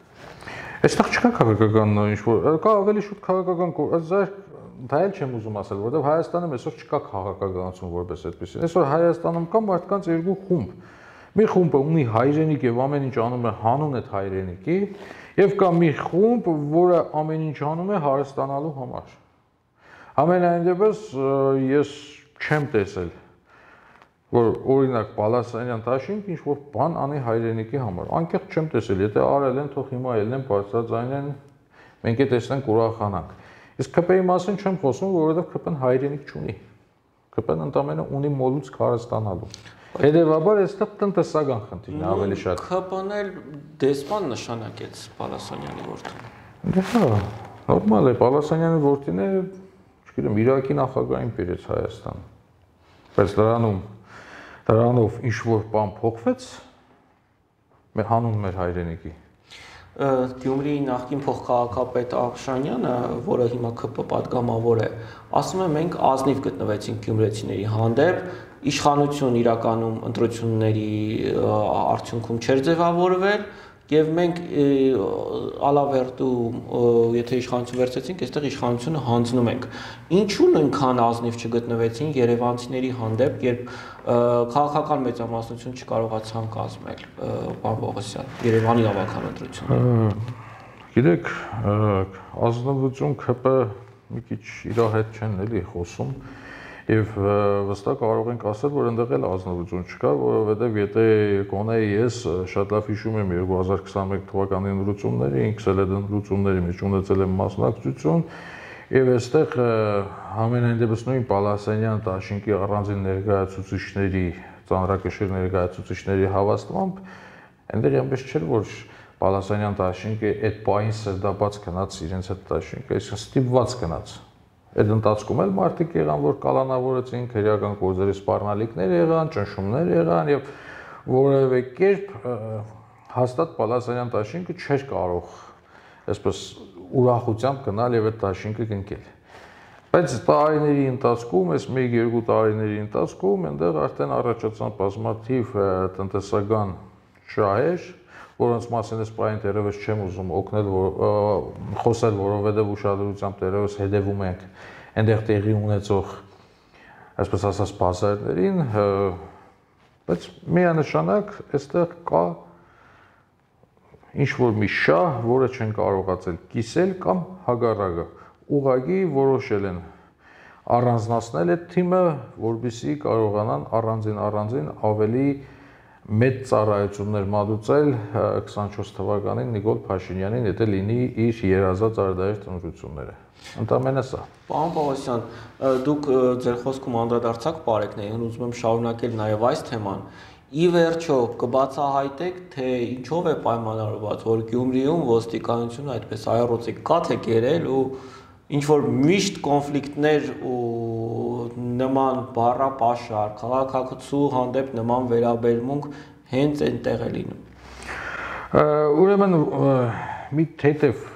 S1: Այստեղ չկա քաղաքական ինչ որ, կա ավելի շուտ քաղաքական գործարք, դա էլ չեմ ուզում ասել, որովհետեւ Հայաստանում այսօր չկա քաղաքականություն որպես այդպեսին։ Այսօր Հայաստանում կա մարդկանց երկու խումբ։ Մի խումբը ունի հայրենիք եւ ամեն ինչ անում է հանուն այդ հայրենիքի, եւ կա մի խումբ, որը ամեն ինչ անում է հարստանալու համար։ Ամենայն դեպս ես չեմ տեսել, որ օրինակ Պալասանյան Տաշինք ինչ որ բան անի հայրենիքի համար։ Անկեղծ չեմ տեսել, եթե արել են, թող հիմա ելնեն բարձրաձայնեն, մենք է տեսնենք ուրախանանք։ Իսկ ՔՊ-ի մասին չեմ խոսում, որովհետեւ ՔՊ-ն հայրենիք չունի։ ՔՊ-ն ընդամենը ունի մոլուցք հարստանալու։ Հետևաբար այստեղ տնտեսական խնդիրն է ավելի շատ։
S2: ՔՊ-ն էլ դեսպան նշանակեց Պալասանյանի որդուն։
S1: Դա նորմալ է, Պալասանյանի որդին է, չգիտեմ, Իրաքի նախագահին բերեց Հայաստան։ Բայց դրանով ինչ որ բան փոխվեց հանուն մեր հայրենիքի։
S2: Գյումրիի նախկին փոխքաղաքապետ Աղշանյանը, որը հիմա ՔՊ պատգամավոր է, ասում է մենք ազնիվ գտնվեցինք գյումրեցիների հանդեպ, իշխանություն իրականում ընտրությունների արդյունքում չէր ձևավորվել եւ մենք ալավերտու եթե իշխանություն վերցեցինք, այստեղ իշխանությունը հանձնում ենք։ Ինչու նույնքան ազնիվ չգտնվեցին երևանցիների հանդեպ, երբ քաղաքական մեծամասնություն չկարողացան կազմել պարոն Պողոսյան, Երևանի ավագան ընտրությունը։
S1: Գիտեք, ազնվություն ՔՊ մի քիչ իր հետ չեն էլի խոսում։ Եվ վստահ կարող ենք ասել, որ այնտեղ էլ ազնվություն չկա, որովհետև եթե գոնե ես շատ լավ հիշում եմ 2021 թվականի ընտրությունները, ինքս էլ այդ ընտրությունների մեջ ունեցել եմ մասնակցություն, եւ այստեղ ամենայն դեպս նույն Պալասանյան Տաշինկի առանձին ներկայացուցիչների, ծանրակշիռ ներկայացուցիչների հավաստմամբ, այնտեղ այնպես չէր, որ Պալասանյան Տաշինկը այդ պահին սրդաբաց գնաց իրենց հետ Տաշինկը, այսինքն ստիպված գնաց։ Այդ ընթացքում էլ մարդիկ եղան, որ կալանավորեցին, քրեական գործերի սպառնալիքներ եղան, ճնշումներ եղան եւ որևէ կերպ հաստատ Պալասանյան Տաշինկը չէր կարող այսպես ուրախությամբ գնալ եւ այդ Տաշինկը կնկել։ Բայց տարիների ընթացքում, այս 1-2 տարիների ընթացքում այնտեղ արդեն առաջացան բազմաթիվ տնտեսական շահեր, որոնց մասին ես պայն դերևս չեմ ուզում օգնել խոսել, որովհետև ուշադրությամբ դերևս հետևում ենք այնտեղ տեղի ունեցող, այսպես ասած, բազարներին, բայց միանշանակ այստեղ կա ինչ-որ մի շահ, որը չեն կարողացել կիսել կամ հակառակը, ուղղակի որոշել են առանձնացնել այդ թիմը, որպեսզի կարողանան առանձին ավելի մեծ ծառայություններ մատուցել 24 թվականին Նիկոլ Փաշինյանին, եթե լինի իր երազած արդարադիր ծնողությունները։ Ընդամենը սա։
S2: Պարոն Պողոսյան, դուք ձեր խոսքում անդրադարձաք պարեկներին, ուզում եմ շարունակել նաև այս թեման։ Ի վերջո կբացահայտեք, թե ինչով է պայմանավորված, որ Գյումրիում ոստիկանությունը այդպես այռոցի կաթ է կերել ու ինչ որ միշտ կոնֆլիկտներ ու նման բառապաշար, քաղաքացու հանդեպ նման վերաբերմունք հենց այնտեղ է լինում։
S1: Ուրեմն մի թեթև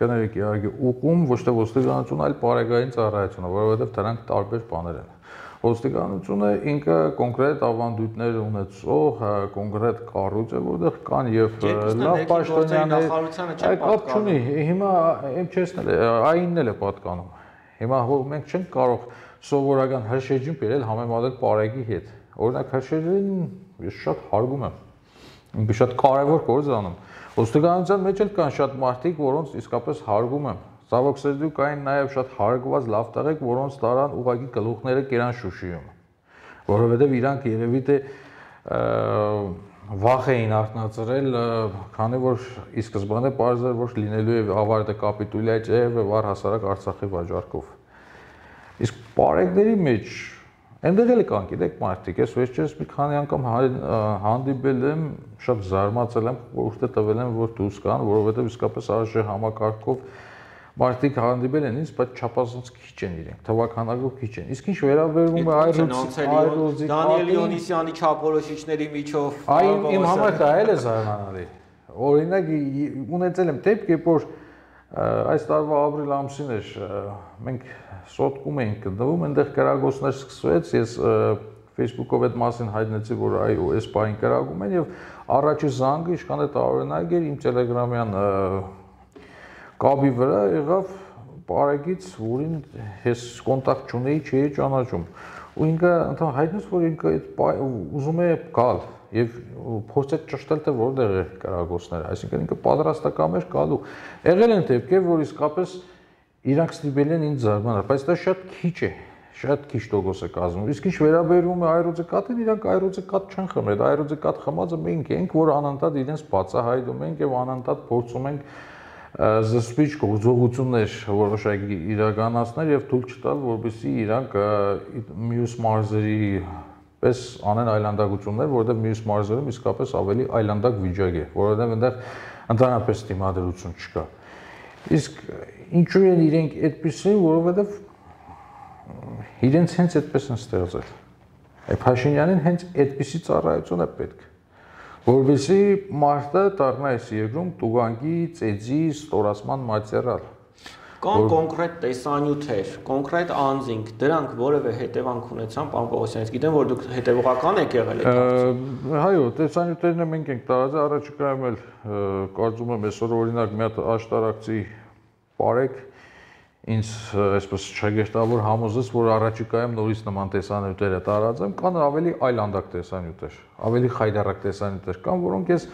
S1: կներեք իհարկե ուղում ոչ թե ոստիկանությունը, այլ պարագային ծառայությունը, որովհետև դրանք տարբեր բաներ են։ Ոստիկանությունը ինքը կոնկրետ ավանդույթներ ունեցող կոնկրետ կառույց է, որտեղ կան եւ լավ պաշտոնյաներ, կապ չունի։ Հիմա եմ չեսնել, այնն էլ է պատկանում։ Հիմա մենք չենք կարող սովորական հրշեջին բերել համեմատել պարագի հետ։ Օրինակ հրշեջին ես շատ հարգում եմ։ Ինքը շատ կարևոր գործ է անում։ Ոստիկանության մեջ էլ կան շատ մարդիկ, որոնց իսկապես հարգում եմ։ Ցավոք սերդու կային նաև շատ հարգված լավ տղեկ, որոնց տարան ուղղակի գլուխները կերան Շուշիում, որովհետև իրանք երևի թե վախ էին արթնացրել, քանի որ ի սկզբանե պարզ էր, որ լինելու է ավարտը կապիտուլյա ջեև եւ առհասարակ Արցախի վաճառքով։ Իսկ պարեկների մեջ այնտեղ էլ կան, գիտեք, մարդիկ, ես վերջերս մի քանի անգամ հանդիպել եմ, շատ զարմացել եմ, որտեղ տվել եմ, որ դուրս կան, որովհետև իսկապես արժե համակարգով մարդիկ հանդիպել են ինձ, բայց չափազանց քիչ են իրենք, թվականակով քիչ են։ Իսկ ինչ վերաբերվում է այրուձի
S2: Դանիել Իոնիսյանի չափորոշիչների միջով,
S1: այն իմ համար դա էլ է զարմանալի։ Օրինակ ունեցել եմ դեպք, որ այս տարվա ապրիլ ամսին էր, մենք սոտկում էինք գտնվում, այնտեղ կրակոցներ սկսվեց, ես Facebook-ով այդ մասին հայտնեցի, որ այո, այս բանին կրակում են եւ առաջի զանգը ինչքան է տարօրինակ էր իմ Telegram-յան կաբի վրա եղավ պարագից, որին ես կոնտակտ չունեի, չէի ճանաչում։ Ու ինքը ընդհանուր հայտնեց, որ ինքը ուզում է գալ եւ փորձեց ճշտել, թե որտեղ է կրակոցները, այսինքն ինքը պատրաստական էր գալու։ Եղել են դեպքեր, որ իսկապես իրանք ստիպել են ինձ զարմանալ, բայց դա շատ քիչ է, շատ քիչ տոկոս է կազմում։ Իսկ ինչ վերաբերում է այրուձի կաթին, իրանք այրուձի կաթ չեն խմել, այրուձի կաթ խմածը մենք ենք, որ անընդհատ իրենց բացահայտում ենք եւ անընդհատ փորձում ենք զսպիչ գործողություններ որոշակի իրականացնել եւ թույլ չտալ, որպեսզի իրանք մյուս մարզերի պես անեն այլանդակություններ, որովհետեւ մյուս մարզերում իսկապես ավելի այլանդակ վիճակ է, որովհետեւ այնտեղ ընդհանրապես դիմադրություն չկա։ Իսկ ինչու են իրենք այդպեսին, որովհետեւ իրենց հենց այդպես են ստեղծել։ Փաշինյանին հենց այդպիսի ծառայություն է պետք, որովհետեւ մարդը դառնա այս երկրում տուգանքի, ծեծի, ստորացման մատերիալ։
S2: Կան կոնկրետ տեսանյութեր, կոնկրետ անձինք, դրանք որևէ հետևանք ունեցան, պարոն Պողոսյան, գիտեմ, որ դուք հետևողական եք եղել այդ հարցում։
S1: Այո, տեսանյութերն մենք ենք տարածել, առաջիկայում էլ կարծում եմ այսօր օրինակ մի հատ աշտարակցի պարեկ ինձ այսպես շագերտավոր համոզեց, որ առաջիկայում նորից նման տեսանյութերը տարածեմ, կան ավելի այլանդակ տեսանյութեր, ավելի խայտառակ տեսանյութեր կան, որոնք ես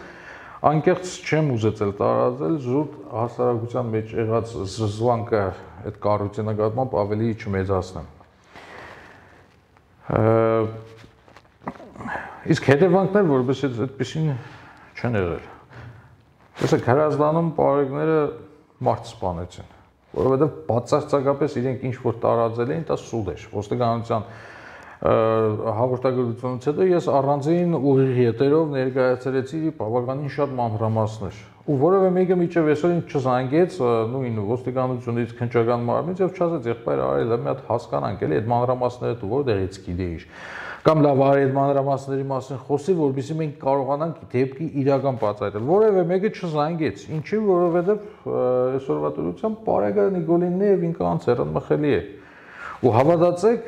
S1: անկեղծ չեմ ուզեցել տարածել, զուտ հասարակության մեջ եղած զզվանքը այդ կառույցի նկատմամբ ավելի չմեծացնեմ։ Իսկ հետևանքներ որպես այդպեսին չեն եղել։ Տեսեք, Հրազդանում պարեկները մարդ սպանեցին, որովհետև բացարձակապես իրենք ինչ որ տարածել էին, դա սուտ էր։ Ոստիկանության հաղորդագրությունից հետո ես առանձին ուղիղ ետերով ներկայացրեցի բավականին շատ մանրամասներ։ Ու որևէ մեկը միջև այսօր ինձ չզանգեց նույն ոստիկանությունից, քննչական մարմնից եւ չասեց, եղբայր արել է մի հատ հասկանանք, էլի այդ մանրամասները դու որտեղից գիտեիր։ Կամ լավ արի այդ մանրամասների մասին խոսի, որովհետեւ մենք կարողանանք դեպքի իրական բացահայտել։ Որևէ մեկը չզանգեց։ Ինչի, որովհետեւ այսօրվա դրությամբ Պարեգա Նիկոլինն է եւ ինքը անցերն մխելի է։ Ու հավատացեք,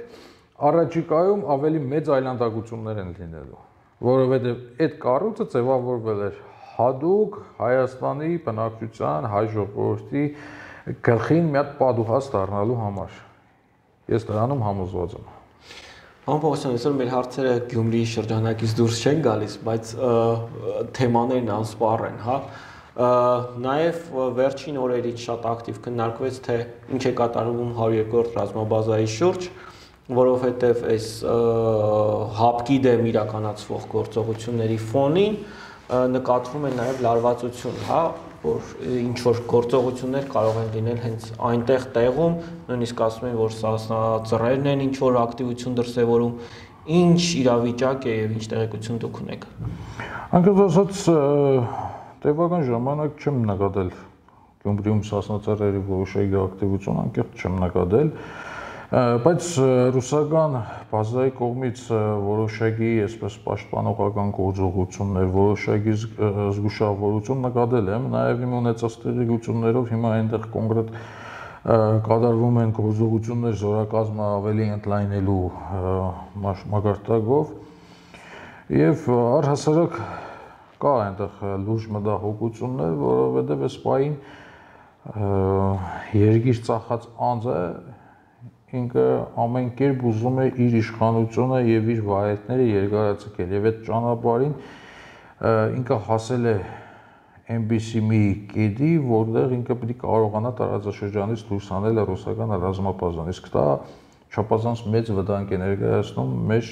S1: առաջիկայում ավելի մեծ այլանդակություններ են լինելու, որովհետեւ այդ կառույցը ձևավորվել էր հadoop Հայաստանի բնակչության, հայ ժողովրդի գլխին մի հատ պատուհաս դառնալու համար։ Ես դրանում համոզված եմ։
S2: Պարոն Պողոսյան, այսօր մեր հարցերը Գյումրիի շրջանակից դուրս չեն գալիս, բայց թեմաներն անսպառ են, հա։ Նաև վերջին օրերից շատ ակտիվ քննարկվեց, թե ինչ է կատարվում 102-րդ ռազմաբազայի շուրջ, որովհետև այս հապկի դեմ իրականացվող գործողությունների ֆոնին նկատվում է նաև լարվածություն, հա, որ ինչ որ գործողություններ կարող են լինել հենց այնտեղ տեղում, նույնիսկ ասում են, որ սասնածռերն են ինչ որ ակտիվություն դրսևորում, ինչ իրավիճակ է եւ ինչ տեղեկություն դուք ունեք։
S1: Անկեղծ ասած, տևական ժամանակ չեմ նկատել Գյումրիում սասնածռերի որոշակի ակտիվություն, անկեղծ չեմ նկատել, բայց ռուսական բազայի կողմից որոշակի այսպես պաշտպանողական գործողություններ, որոշակի զգուշավորություն նկատել եմ, նաև իմ ունեցած տեղեկություններով հիմա այնտեղ կոնկրետ կատարվում են գործողություններ զորակազմը ավելի ընդլայնելու մակարդակով եւ առհասարակ կա այնտեղ լուրջ մտահոգություններ, որովհետեւ այս պահին երգիր ծախած անձը ինքը ամեն կերպ ուզում է իր իշխանությունը եւ իր վայրենքները երկարաձգել եւ այդ ճանապարհին ինքը հասել է այնպիսի մի կետի, որտեղ ինքը պետք է կարողանա տարածաշրջանից դուրս հանել ռուսական ռազմապազան, իսկ դա չափազանց մեծ վտանգ է ներկայացնում մեր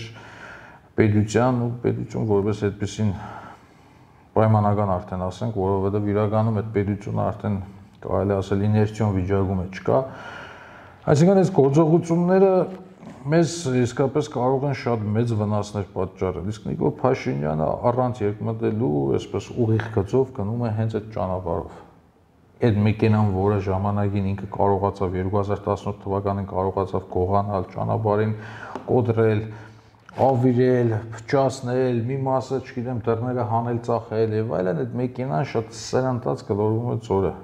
S1: պետության ու պետություն որպես այդպեսին պայմանական արդեն ասենք, որովհետեւ իրականում այդ պետությունը արդեն կարելի ասել իներցիոն վիճակում է չկա։ Այսինքն այս գործողությունները մեզ իսկապես կարող են շատ մեծ վնասներ պատճառել, իսկ Նիկոլ Փաշինյանը առանց երկմտելու, այսպես ուղիղ գծով գնում է հենց այդ ճանապարհով։ Այդ մեքենան, որը ժամանակին ինքը կարողացավ 2018 թվականին կարողացավ գողանալ ճանապարհին, կոտրել, ավիրել, փչացնել, մի մասը, չգիտեմ, դռները հանել, ծախել եւ այլն, այդ մեքենան շատ սրանտած գլորվում է ծորը։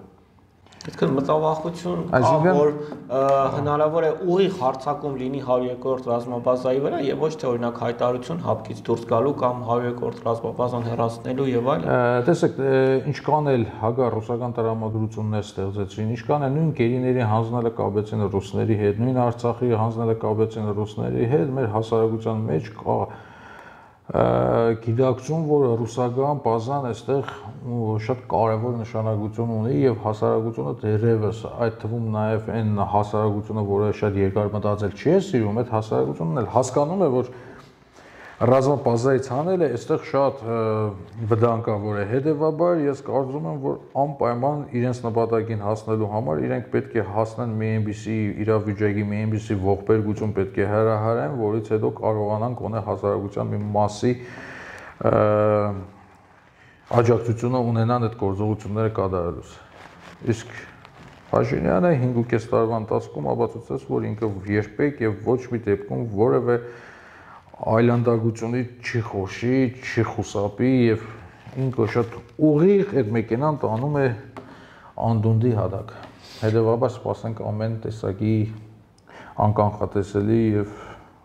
S2: Այսինքն մտավախություն կա, որ հնարավոր է ուղիղ հարձակում լինի 102-րդ ռազմաբազայի վրա եւ ոչ թե օրինակ հայտարարություն հապկից դուրս գալու կամ 102-րդ ռազմաբազան հեռացնելու եւ այլն։
S1: Տեսեք, ինչքան էլ հակառուսական տրամադրություններ ստեղծեցին, ինչքան էլ նույն գերիների հանձնելը կապեցին ռուսների հետ, նույն Արցախի հանձնելը կապեցին ռուսների հետ, մեր հասարակության մեջ կա գիտակցում, որ ռուսական բազան այստեղ շատ կարևոր նշանակություն ունի եւ հասարակությունը դեռևս այդ թվում նաեւ այն հասարակությունը, որը շատ երկար մտածել չի սիրում, այդ հասարակությունն էլ հասկանում է, որ ռազմաբազայից հանելը այստեղ շատ վտանգավոր է։ Հետևաբար ես կարծում եմ, որ անպայման իրենց նպատակին հասնելու համար իրենք պետք է հասնեն մի այնպիսի իրավիճակի, մի այնպիսի ողբերգություն պետք է հրահարեն, որից հետո կարողանան գոնե հասարակության մի մասի աջակցությունը ունենան այդ գործողությունները կատարելուց։ Իսկ Փաշինյանը 5.5 տարվա ընթացքում ապացուցեց, որ ինքը երբեք եւ ոչ մի դեպքում որևէ այլանդակությունից չի խոշի, չի խուսափի եւ ինքը շատ ուղիղ այդ մեքենան տանում է անդունդի հատակ։ Հետևաբար սպասենք ամեն տեսակի անկանխատեսելի եւ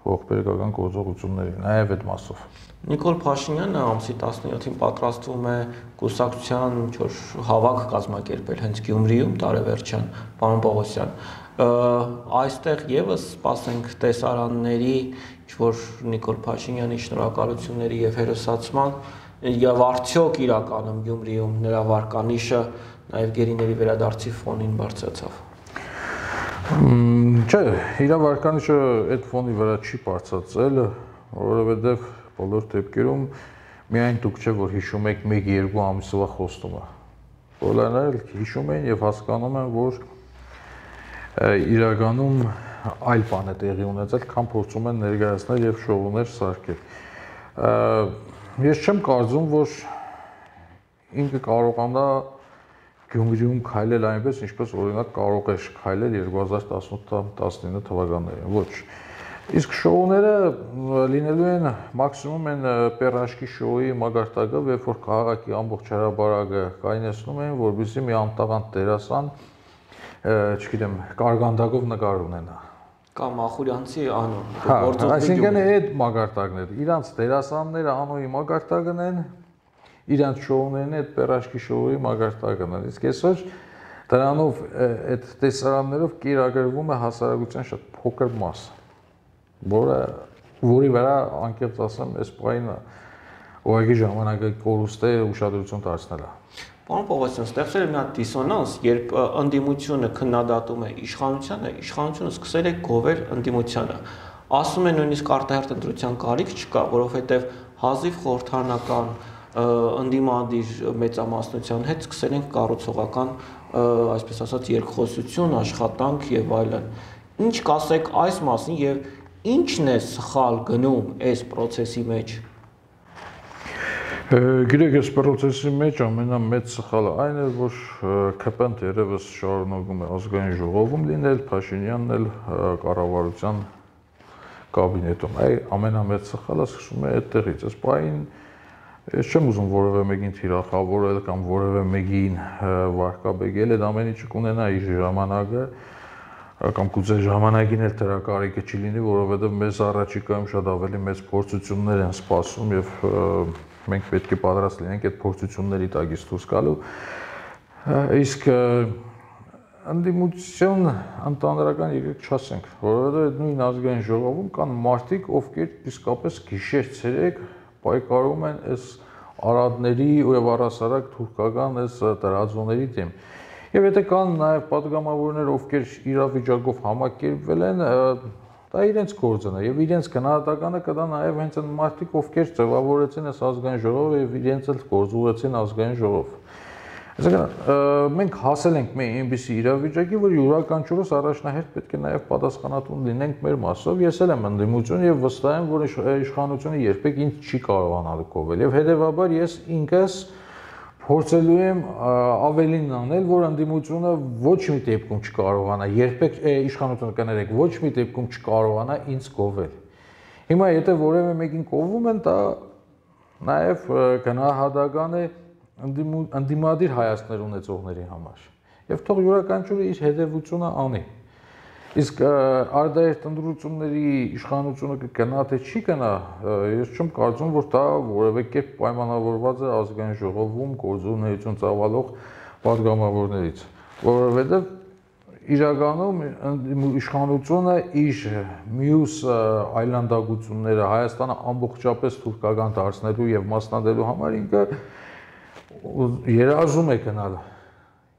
S1: ողբերգական գործողությունների, նաեւ այդ մասով։
S2: Նիկոլ Փաշինյանը ամսի 17-ին պատրաստվում է կուսակցության ինչ-որ հավաք կազմակերպել հենց Գյումրիում տարեվերջյան, պարոն Պողոսյան։ Այստեղ եւս սպասենք տեսարանների, ինչ-որ Նիկոլ Փաշինյանի շնորհակալությունների եւ հերոսացման եւ արդյոք իրականում Գյումրիում նրա վարկանիշը նաեւ գերիների վերադարձի ֆոնին բարձրացավ։
S1: Չէ, իր վարկանիշը այդ ֆոնի վրա չի բարձրացել, որովհետեւ բոլոր դեպքերում միայն դուք չէ որ հիշում եք 1-2 ամսվա խոստումը։ Բոլորն էլ հիշում են եւ հասկանում են, որ իրականում այլ բան է տեղի ունեցել, քան փորձում են ներկայացնել եւ շոուներ սարքել։ Ես չեմ կարծում, որ ինքը կարողանա Գյումրիում քայլել այնպես, ինչպես օրինակ կարող է քայլել 2018-19 թվականներին։ Ոչ։ Իսկ շոուները լինելու են մաքսիմում են պերաշկի շոուի մակարդակով, երբ որ քաղաքի ամբողջ հրապարակը կայնեցնում են, որպեսզի մի անտաղանդ դերասան, չգիտեմ, կարգանդակով նկար ունենա։
S2: Կամ Ախուրյանցի անո,
S1: այսինքն այդ մակարդակն է։ Իրանց դերասանները անոյի մակարդակն են, իրանց շոուներն այդ պերաշկի շոուի մակարդակն են։ Իսկ այսօր դրանով այդ տեսարաններով կիրակրվում է հասարակության շատ փոքր մաս, որի վրա անկեղծ ասեմ, այս պահին ուղղակի ժամանակը կորուստ է ուշադրություն դարձնելը։
S2: Պարոն Պողոսյան, ստեղծել է մի հատ դիսոնանս, երբ ընդդիմությունը քննադատում է իշխանությանը, իշխանությունը սկսել է գովել ընդդիմությանը։ ասում են նույնիսկ արտահերթ ընտրության կարիք չկա, որովհետև հազիվ խորհրդարանական ընդդիմադիր մեծամասնության հետ սկսել ենք կառուցողական, այսպես ասած, երկխոսություն, աշխատանք եւ այլն։ Ինչ կասեք այս մասին եւ ինչն է սխալ գնում այս process-ի մեջ։
S1: Գիտեք, այս process-ի մեջ ամենամեծ սխալը այն է, որ ԿՊ-ն երևս շարունակում է ազգային ժողովում լինել, Փաշինյանն էլ կառավարության կաբինետում։ Այ ամենամեծ սխալը սկսում է այդտեղից։ Այս պահին ես չեմ ուզում որևէ մեկին թիրախավորել կամ որևէ մեկին վարկաբեկել, այդ ամեն ինչը կունենա իր ժամանակը կամ գուցե ժամանակին էլ դրա կարիքը չի լինի, որովհետև մեզ առաջիկայում շատ ավելի մեծ փորձություններ են սպասում եւ մենք պետք է պատրաստ լինենք այդ փորձությունների տակից դուրս գալու։ Իսկ ընդդիմություն ընդհանրական եկեք չասենք, որովհետև նույն ազգային ժողովում կան մարդիկ, ովքեր իսկապես գիշեր-ցերեկ պայքարում են այս արադների եւ առասարակ թուրքական այս տարածությունների դեմ։ Եվ եթե կան նաև պատգամավորներ, ովքեր իրավիճակով համակերպվել են, դա իրենց գործն է եւ իրենց գնահատականը կդա նաև հենց այն մարդիկ, ովքեր ձևավորեցին այս ազգային ժողովը եւ իրենց էլ գործուղեցին ազգային ժողով։ Այսինքն մենք հասել ենք մի այնպիսի իրավիճակի, որ յուրաքանչյուրս առաջնահերթ պետք է նաև պատասխանատուն լինենք մեր մասով։ Ես էլ եմ ընդդիմություն եւ վստահ եմ, որ իշխանությունը երբեք ինձ չի կարողանալ կովել եւ հետեւաբար ես ինքս փորձելու եմ ավելին անել, որ ընդդիմությունը ոչ մի դեպքում չկարողանա, երբեք իշխանությունը կներեք, ոչ մի դեպքում չկարողանա ինձ կովել։ Հիմա եթե որևէ մեկին կովում են, դա նաև գնահատական է ընդդիմադիր հայացքներ ունեցողների համար։ Եվ թող յուրաքանչյուրը իր հետևությունը անի։ Իսկ արտահերթ ընտրությունների իշխանությունը կգնա թե չի գնա, ես չեմ կարծում, որ դա որևէ կերպ պայմանավորված է ազգային ժողովում գործունեություն ծավալող պատգամավորներից, որովհետև իրականում իշխանությունը իր մյուս այլանդակությունները Հայաստանը ամբողջապես թուրքական դարձնելու եւ մասնատելու համար ինքը երազում է գնալ։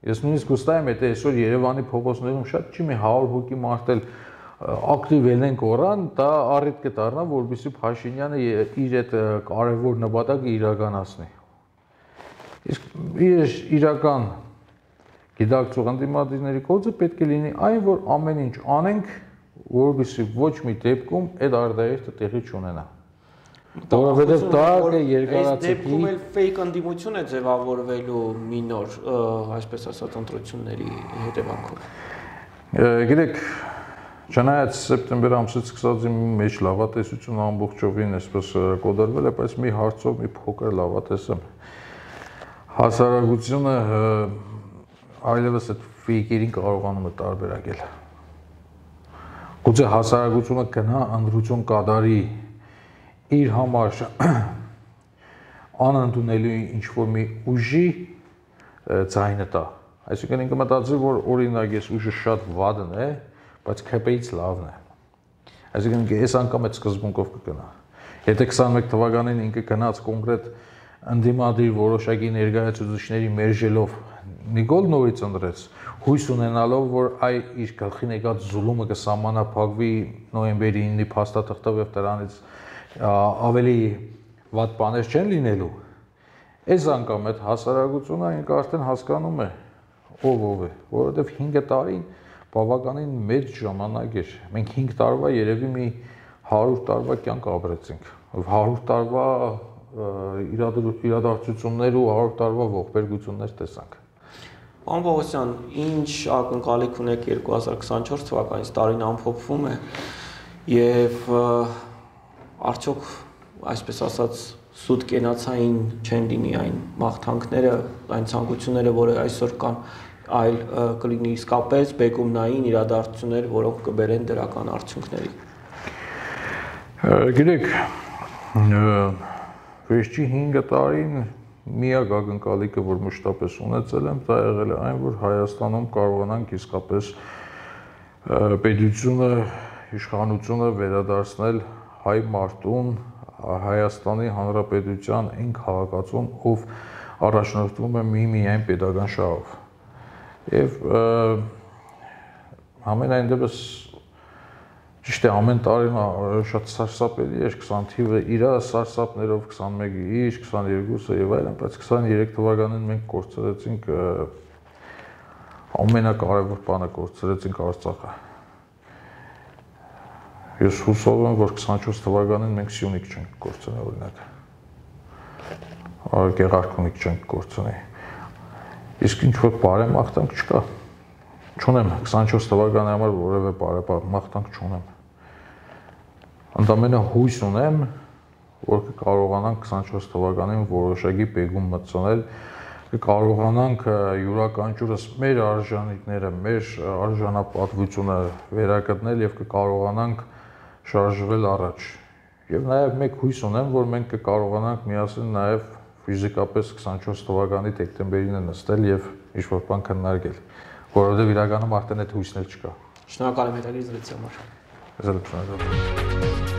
S1: Ես նույնիսկ վստահ եմ, եթե այսօր Երևանի փողոցներում շատ չի մի 100 հոգի մարդ էլ ակտիվ ելեն կորան, դա առիթ կդառնա, որովհետեւ Փաշինյանը իր այդ կարևոր նպատակը իրականացնի։ Իսկ իր իրական գիտակցող ընդդիմադիրների գործը պետք է լինի այն, որ ամեն ինչ անենք, որովհետեւ ոչ մի դեպքում այդ արտահերթը տեղի չունենա։ Որովհետև դա երկարացի
S2: դեպքում էլ ֆեյք ընդդիմություն է ձևավորվելու մի նոր, այսպես ասած, ընտրությունների հետևանքով։
S1: Գիտեք, չնայած սեպտեմբեր ամսից սկսած մեջ լավատեսությունը ամբողջովին այսպես կոդարվել է, բայց մի հարցով մի փոքր լավատես եմ։ Հասարակությունը այլևս այդ ֆեյքերին կարողանում է տարբերակել։ Գուցե հասարակությունը գնա ընտրություն կատարի իր համար անընդունելի ինչ-որ մի ուժի ձայնը տա։ Այսինքն ինքը մտածի, որ օրինակ ես ուժը շատ վատն է, բայց ԿՊ-ից լավն է։ Այսինքն այս անգամ այդ սկզբունքով կգնա։ Եթե 21 թվականին ինքը գնաց կոնկրետ ընդդիմադիր որոշակի ներկայացուցիչների մերժելով Նիկոլ նորից ընտրեց, հույս ունենալով, որ այ իր գլխին եկած զուլումը կսահմանափակվի նոյեմբերի 9-ի փաստաթղթով եւ դրանից ավելի վատ բաներ չեն լինելու, այս անգամ այդ հասարակությունը ինքը արդեն հասկանում է ով է, որովհետև 5 տարին բավականին մեծ ժամանակ էր։ Մենք 5 տարվա երևի մի 100 տարվա կյանք ապրեցինք, 100 տարվա իրադարձություններ ու 100 տարվա ողբերգություններ տեսանք։
S2: Պարոն Պողոսյան, ինչ ակնկալիք ունեք 2024 թվականից, տարին ամփոփվում է եւ արդյոք, այսպես ասած, սուտ կենացային չեն լինի այն մաղթանքները, այն ցանկությունները, որը այսօր կան, այլ կլինի իսկապես բեկումնային իրադարձություններ, որոնք կբերեն դրական արդյունքների։
S1: Գիտեք, վերջի 5 տարին միակ ակնկալիքը, որ մշտապես ունեցել եմ, դա եղել է այն, որ Հայաստանում կարողանանք իսկապես պետությունը, իշխանությունը վերադարձնել հայ մարդուն, Հայաստանի Հանրապետության այն քաղաքացուն, ով առաջնորդվում է միայն պետական շահով։ Եվ համենայն դեպս Ճիշտ է, ամեն տարին շատ սարսափելի է 20 թիվը իր սարսափներով 21-ը իր 22-ը եւ այլն, բայց 23 թվականին մենք կորցրեցինք ամենակարևոր բանը կորցրեցինք Արցախը։ Ես հուսով եմ, որ 24 թվականին մենք Սյունիք չենք կորցնի օրինակ։ Գեղարքունիք չենք կորցնի։ Իսկ ինչ որ բարեմաղթանք չկա։ Չունեմ 24 թվականի համար որևէ բարեմաղթանք չունեմ։ Ընդամենը հույս ունեմ, որ կկարողանանք 24 թվականին որոշակի բեգում մտցնել, կկարողանանք յուրաքանչյուրս մեր արժանինքները, մեր արժանապատվությունը վերականգնել եւ կկարողանանք շարժվել առաջ։ Եվ նաեւ մեկ հույս ունեմ, որ մենք կկարողանանք միասին նաեւ ֆիզիկապես 24 թվականի դեկտեմբերին նստել եւ ինչ-որ բան քննարկել, որովհետեւ իրականում արդեն այդ հույսն էլ չկա։
S2: Շնորհակալ եմ հետաքրքիր զրույցի համար։
S1: Ես էլ շնորհակալ եմ։